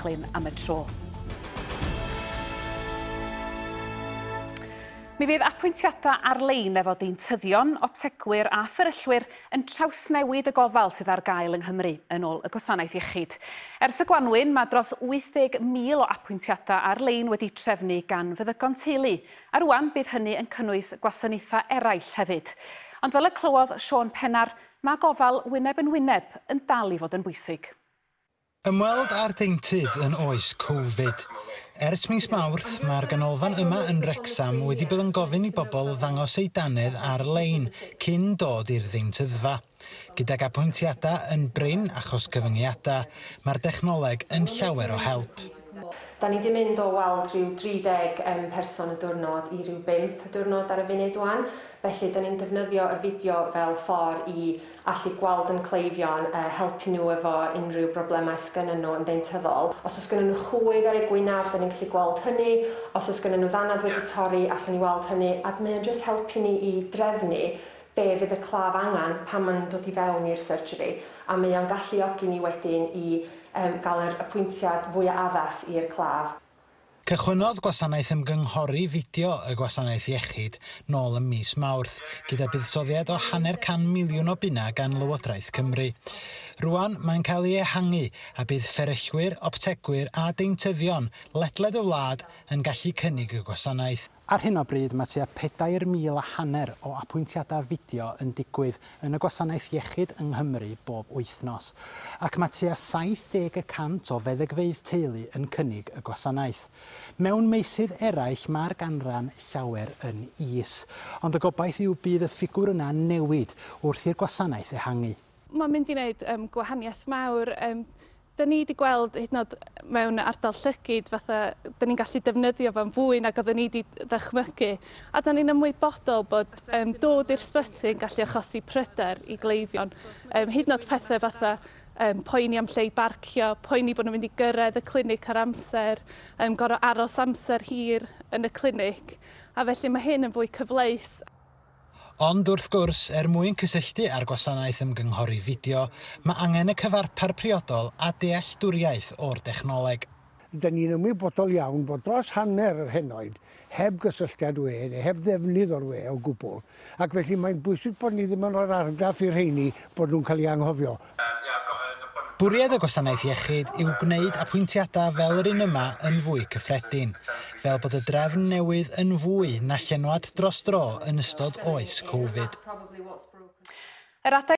brechlyn am y tro. Mi fydd apwyntiadau ar-lein efo deintyddion, optegwyr a fferyllwyr yn trawsnewid y gofal sydd ar gael yng Nghymru, yn ôl y Gwasanaeth Iechyd. Ers y gwanwyn, mae dros 80,000 o apwyntiadau ar-lein wedi trefnu gan feddygon teulu, a rwan bydd hynny yn cynnwys gwasanaethau eraill hefyd. Ond fel y clywodd Siôn Pennar, mae gofal wyneb yn wyneb yn dal i fod yn bwysig. Ymweld â'r deintydd yn oes Covid. Ers mis Mawrth, mae'r ganolfan yma yn Wrecsam wedi bod yn gofyn i bobl ddangos eu dannedd ar-lein cyn dod i'r ddeintyddfa. Gydag apwyntiadau yn brin achos cyfyngiadau, mae'r dechnoleg yn llawer o help. Da ni 'di mynd o weld rhyw 30 person y diwrnod i ryw 5 y diwrnod ar y funud wan, felly da ni'n defnyddio yr fideo fel ffordd i allu gweld yn cleifion, helpu nhw efo unrhyw broblemau sgynnyn nhw yn ddeintyddol. Os oes gynnyn nhw chwydd ar eu gwynaf, da ni'n gallu gweld hynny. Os oes gynnyn nhw ddannedd wedi torri, allwn ni weld hynny. A mae o'n jyst helpu ni i drefnu be fydd y claf angen pan maen nhw'n dod i fewn i'r surgery. A mae o'n galluogi ni wedyn i gael yr apwyntiad fwyaf addas i'r claf. Cychwynnodd gwasanaeth ymgynghori fideo y Gwasanaeth Iechyd nôl ym mis Mawrth, gyda buddsoddiad o £500 miliwn o bunna gan Lywodraeth Cymru. Rwan mae'n cael ei ehangu a bydd fferyllwyr, optegwyr a deintyddion ledled y wlad yn gallu cynnig y gwasanaeth. Ar hyn o bryd mae tua 4,500 o apwyntiadau fideo yn digwydd yn y gwasanaeth iechyd yng Nghymru bob wythnos, ac mae tua 70% o feddygfeydd teulu yn cynnig y gwasanaeth. Mewn meysydd eraill mae'r ganran llawer yn is, ond y gobaith yw bydd y ffigwr yna'n newid wrth i'r gwasanaeth ehangu. Mae'n mynd i wneud gwahaniaeth mawr. Da ni wedi gweld hyd yn oed mewn ardal llygid, fatha, da ni'n gallu defnyddio fo'n fwy nag oedden ni wedi ddychmygu. A da ni'n ymwybodol bod dod i'r sbyty yn gallu achosi pryder i gleifion. Hyd yn oed pethau fatha poeni am lle i barcio, poeni bod nhw'n mynd i gyrraedd y clinic ar amser, gorfod aros amser hir yn y clinic. A felly mae hyn yn fwy cyfleus. Ond wrth gwrs, er mwyn cysylltu â'r gwasanaeth ymgynghori fideo, mae angen y cyfarpar priodol a dealltwriaeth o'r dechnoleg. Da ni'n ymwybodol iawn bod dros hanner yr henoed heb gysylltiad we neu heb ddefnydd o'r we o gwbl, ac felly mae'n bwysig bod ni ddim yn rhoi'r argraff i'r rheini bod nhw'n cael eu anghofio. Bwriad y gwasanaeth iechyd yw gwneud apwyntiadau fel yr un yma yn fwy cyffredin, fel bod y drefn newydd yn fwy na llenwad dros dro yn ystod oes Covid. Yr adeg